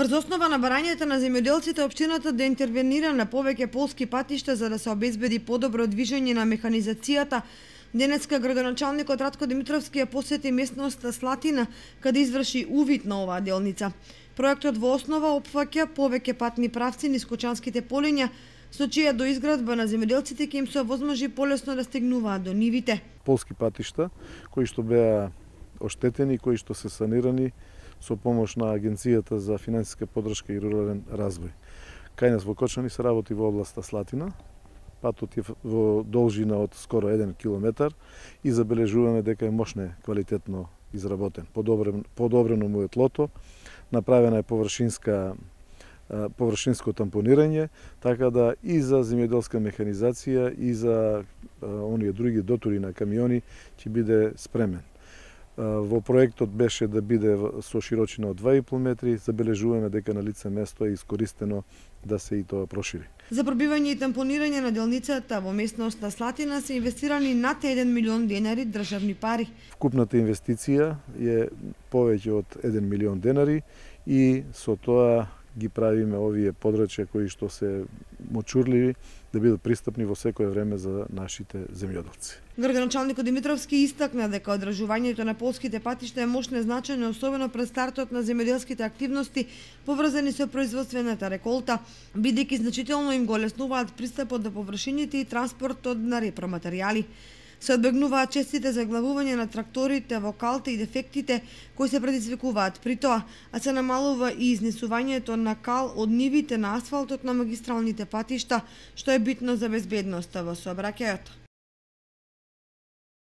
Врз основа на барањата на земјоделците, општината да интервенира на повеќе полски патишта за да се обезбеди подобро движење на механизацијата. Денеска градоначалникот Ратко Димитровски ја посети местноста Слатина, каде изврши увид на оваа делница. Проектот во основа опфаќа повеќе патни правци низ Кочанските полиња, со чија доизградба на земјоделците ќе им се овозможи полесно да стигнуваат до нивите. Полски патишта кои што беа оштетени, кои што се санирани со помош на Агенцијата за финансиска поддршка и рурален развој. Кај нас во Кочани се работи во областа Слатина. Патот е во должина од скоро 1 километар и забележуваме дека е мощне квалитетно изработен. Подобрено му е тлото, направена е површинско тампонирање, така да и за земјоделска механизација и за оние други дотури на камиони ќе биде спремен. Во проектот беше да биде со широчина од 2,5 метри, забележуваме дека на лице место е искористено да се и тоа прошири. За пробивање и тампонирање на делницата во местноста Слатина се инвестирани над 1 милион денари државни пари. Вкупната инвестиција е повеќе од 1 милион денари и со тоа ги правиме овие подрачја кои што се мочурливи да бидат пристапни во секое време за нашите земјоделци. Градоначалникот Димитровски истакна дека одржувањето на полските патишта е мощно значајно, особено пред стартот на земјоделските активности поврзани со производствената реколта, бидејќи значително им го олеснуваат пристапот до површините и транспортот на репроматеријали. Се одбегнуваат честите заглавување на тракторите во калта и дефектите кои се предизвикуваат при тоа, а се намалува и изнесувањето на кал од нивите на асфалтот на магистралните патишта, што е битно за безбедноста во сообраќајот.